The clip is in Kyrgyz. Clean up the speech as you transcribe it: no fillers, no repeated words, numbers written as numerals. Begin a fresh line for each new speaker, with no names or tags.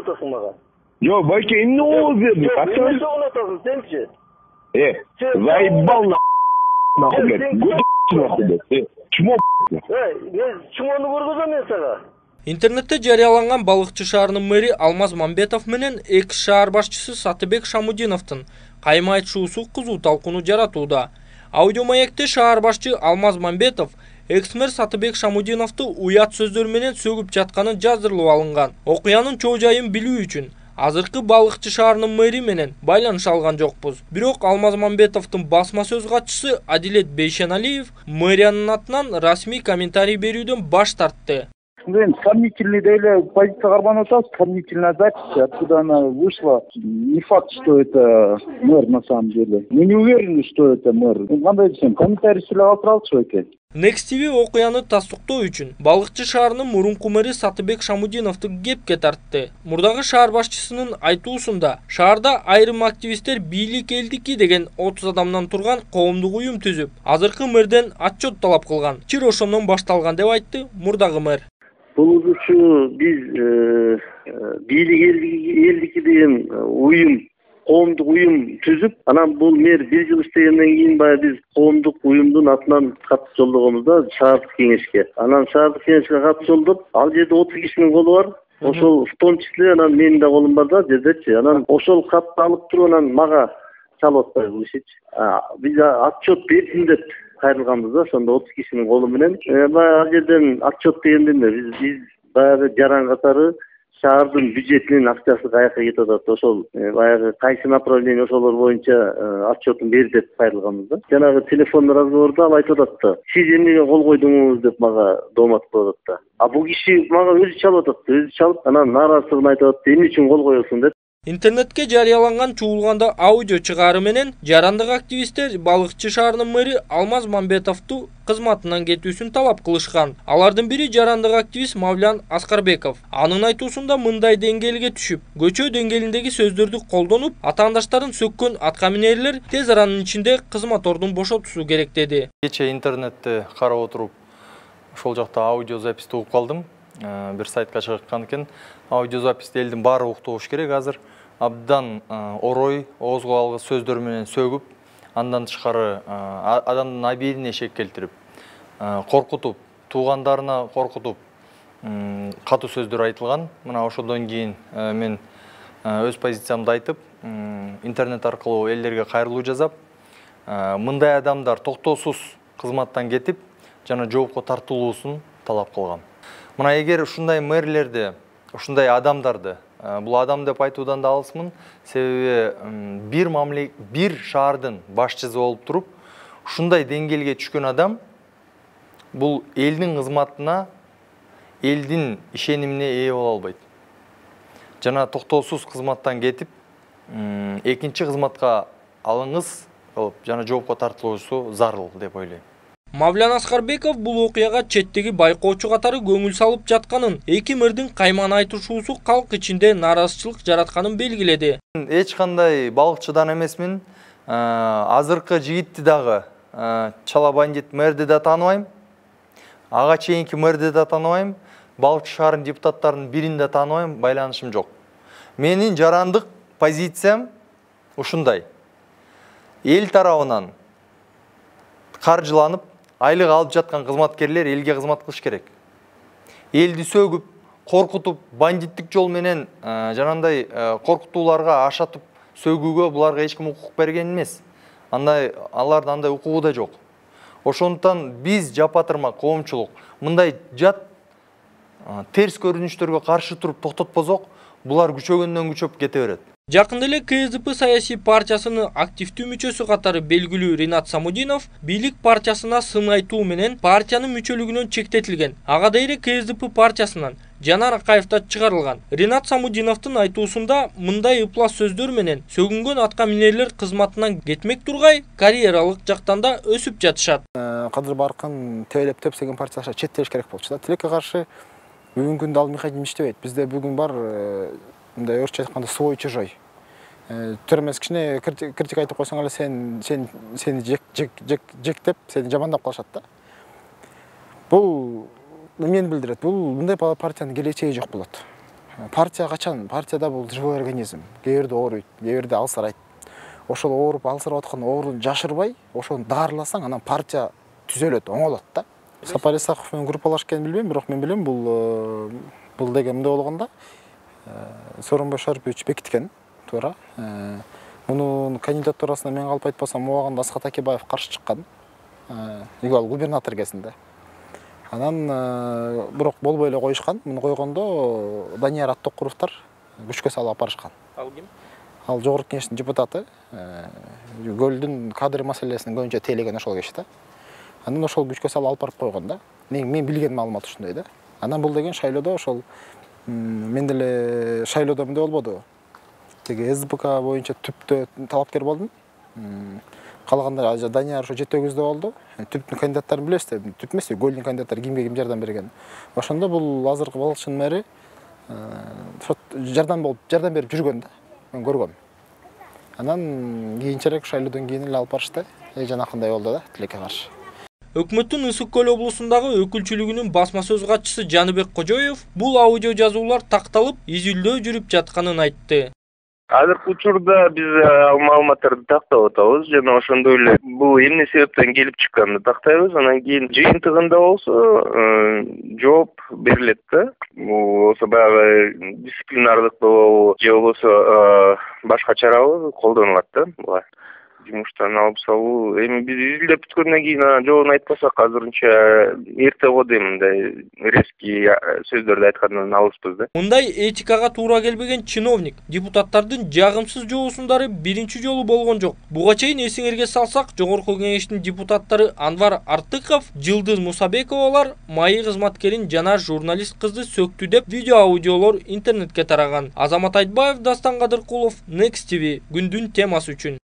согунуп атасың мага?
Жок, байке, эмне болуп берди?
Эмне согунуп атасың сенчи?
Заебал нахуй, блядь. Чмо,
мен чмону көргөзөм мен сага.
Интернетте жарыяланган Балыкчы шаарынын мэри Алмаз Мамбетов менен экс шаар башчысы Сатыбек Шамудиновдун кайма айтышуусу кызуу талкууну жаратууда. Аудиомаекте шаар башчы Алмаз Мамбетов экс-мэр Сатыбек Шамудиновду уят сөздөр менен сөгүп жатканын жаздырылып алынган. Окуянын чоо жайын билүү үчүн азыркы Балыкчы шаарынын мэри менен байланыша алган жокпуз. Бирок Алмаз Мамбетовдун басма сөз катчысы Адилет Бейшеналиев мэриянын атынан расмий комментарий берүүдөн баш тартты.
Сомнительный деле позиция карманып атабыз, сомнительная запись, откуда она вышла. Не факт, что это мэр на самом деле. Мы не уверены, что это мэр. Кандай десем, комментарий сүйлөп алып экен.
Next TV окуяны тастыктоо үчүн Балыкчы шаарынын мурунку мэри Сатыбек Шамудиновду кепке тартты. Мурдагы шаар башчысынын айтуусунда шаарда айрым активисттер бийлик элдики деген 30 адамдан турган коомдук уюм түзүп, азыркы мэрден отчет талап кылган. Чир ошондон башталган деп айтты мурдагы мэр.
Бул биз бийлик элдики деген уюм, коомдук уюм түзүп, анан бул мэр 1 жыл иштегенден кийин баягы биз коомдук уюмдун атынан кат жолдогонбуз да шаардык кеңешке. Анан шаардык кеңешке кат жолдоп, ал жерде 30 кишинин колу бар. Ошол в том числе анан менин да колум бар да жердечи. Анан ошол катты алып туруп анан мага чалып атпайбы бул ишичи. Биз отчет бердим деп кайрылганбыз да, ошондо 30 кишинин колу менен. Баягы ал жерден отчет дегенде биз баягы жаран катары шаардын бюджетинин акчасы каяка кетип атат, ошол баягы кайсы направление ошолор боюнча отчетун бер деп кайрылганбыз да. Жанагы телефон разговорда ал айтып атат да, сиз эмнеге кол койдуңуз деп мага доомат кылып атат да. Бул киши мага өзү чалып атат, өзү чалып, анан нааразычылыгын айтып атат, эмне үчүн кол коесуң деп.
Интернетке жарыяланган чуулганда аудио чыгаары менен жарандык активисттер Балыкчы шаарынын мэри Алмаз Мамбетовду кызматынан кетүүсүн талап кылышкан. Алардын бири жарандык активист Мавлян Аскарбеков. Анын айтуусунда мындай деңгээлге түшүп, көчө деңгээлиндеги сөздөрдү колдонуп, атаандаштарын сөккөн аткаминерлер тез аранын ичинде кызматордун бошотуусу керек деди.
Кече интернетте карап отуруп, ошол жакта аудио записти угуп калдым. Бир сайтка чыгыккан экен. Аудио записти элдин баары уктуу болуш керек азыр. Абдан орой, оозго алгыс сөздөр менен сөгүп, андан тышкары адамдын абийирине шек келтирип, коркутуп, туугандарына коркутуп, катуу сөздөр айтылган. Мына ошондон кийин мен өз позициямды айтып, интернет аркылуу элдерге кайрылуу жасап, мындай адамдар токтоосуз кызматтан кетип, жана жоопко тартылуусун талап кылгам. Мына эгер ушундай мэрлерди, ушундай адамдарды, бул адам деп айтуудан да алысмын, себеби бир шаардын башчысы болуп туруп, ушундай деңгээлге түшкөн адам бул элдин кызматына, элдин ишенимине ээ боло албайт. Жана токтоосуз кызматтан кетип, экинчи кызматка алыңыз кылып, жана жоопко тартылуусу зарыл деп ойлойм.
Мавлян Аскарбеков бул окуяга четтеги байкоочу катары көңүл салып жатканын, эки мэрдин кайман айтышуусу калк ичинде нааразычылык жаратканын белгиледи.
Эч кандай балыкчыдан эмесмин. Азыркы жигитти дагы чала бандит мэрди да тааныбайм. Ага чейинки мэрди да тааныбайм. Балыкчы шаарынын депутаттарынын бирин да тааныбайм, байланышым жок. Менин жарандык позициям ушундай. Эл тарабынан каржыланып, айлык алып жаткан кызматкерлер элге кызмат кылыш керек. Элди сөгүп, коркутуп, бандиттик жол менен жанандай коркутууларга ашатып сөгүүгө буларга эч ким укук берген эмес. Алардын андай укугу да жок. Ошондуктан биз жапатырма коомчулук мындай жат терс көрүнүштөргө каршы туруп токтотпосок, булар күчөгөндөн күчөп кете берет.
Жакында эле КСДП саясий партиясынын активдүү мүчөсү катары белгилүү Ринат Самудинов бийлик партиясына сын айтуу менен партиянын мүчөлүгүнөн чектетилген. Ага дейре КСДП партиясынан Жанар Акаевда чыгарылган. Ринат Самудиновдун айтуусунда мындай ыплас сөздөр менен сөгүнгөн аткаминерлер кызматынан кетмек тургай карьералык жактан да өсүп жатышат.
Кадыр Баркын тебелеп тепсеген партияга четтеш керек болчу да. Тилекке каршы бүгүнкү күндө ал механизм иштебейт. Бизде бүгүн бар мындай орусча айтканда свой чужой. Төрөмөс кичине критика айтып койсоң эле сени жектеп, сени жамандап калышат да. Бул эмнени билдирет? Бул мындай партиянын келечеги жок болот. Партия качан? Партияда бул живой организм. Кээ бирде ооруйт, кээ бирде алсырайт. Ошол ооруп алсырап аткан ооруну жашырбай, ошону даарыласаң, анан партия түзөлөт, оңолот да. Сапар Исаков менен группалашып экенин билбейм, бирок мен билем бул деген мындай болгондо Сооронбай Шарипович бекиткен, туура. Мунун кандидатурасына мен калп айтпасам, убагында Асхат Акебаев каршы чыккан. Игал губернатор кезинде. Анан бирок болбой эле коюшкан. Муну койгондо Данияр Аттокуровдор күчкө салып алып барышкан.
Ал ким?
Ал жогорку кеңештин депутаты. Көлдүн кадр маселесин көбүнчө тейлеген ошол киши да. Анан ошол күчкө салып алып барып койгон да. Мен билген маалымат ушундай да. Анан бул деген шайлоодо ошол мен деле шайлоодо мындай болбоду. Теги СБК боюнча түптө талапкер болдум. Калгандар Данияр ошо 7-9 болду. Түптүн кандидаттарын билесиз, түп эмес, голдун кандидаттары кимге ким жардам берген. Ошондо бул азыркы Балыкчынын мэри жардам берип жүргөн да. Мен көргөм. Анан кийинчерээк шайлоодон кийин эле алып барышты. Жанакындай болду да, тилекке каршы.
Өкмөттүн Ысык көл облусундагы өкүлчүлүгүнүн басма сөз катчысы Жаныбек Кожоев бул аудио жазуулар такталып, изилдөө жүрүп жатканын айтты.
Азыркы учурда биз маалыматтарды тактап атабыз жана ошондой эле бул эмне себептен келип чыкканын тактайбыз. Анан кийин жыйынтыгында болсо жооп берилет да. Бул болсо баягы дисциплинардык же болбосо башка чарабы колдонулат да. Булар жумуштан алып салуу. Эми биз изилдеп бүткөндөн кийин жообун айтпасак азырынча эрте го дейм, мындай резкий сөздөрдү айткандан алыспыз да.
Мындай этикага туура келбеген чиновник депутаттардын жагымсыз жоосундары биринчи жолу болгон жок. Буга чейин эсиңерге салсак, жогорку кеңештин депутаттары Анвар Артыков, Жылдыз Мусабековалар майы кызматкерин жана журналист кызды сөктү деп видео аудиолор интернетке тараган. Азамат Айтбаев, Дастан Кадыркулов, Next TV күндүн темасы үчүн.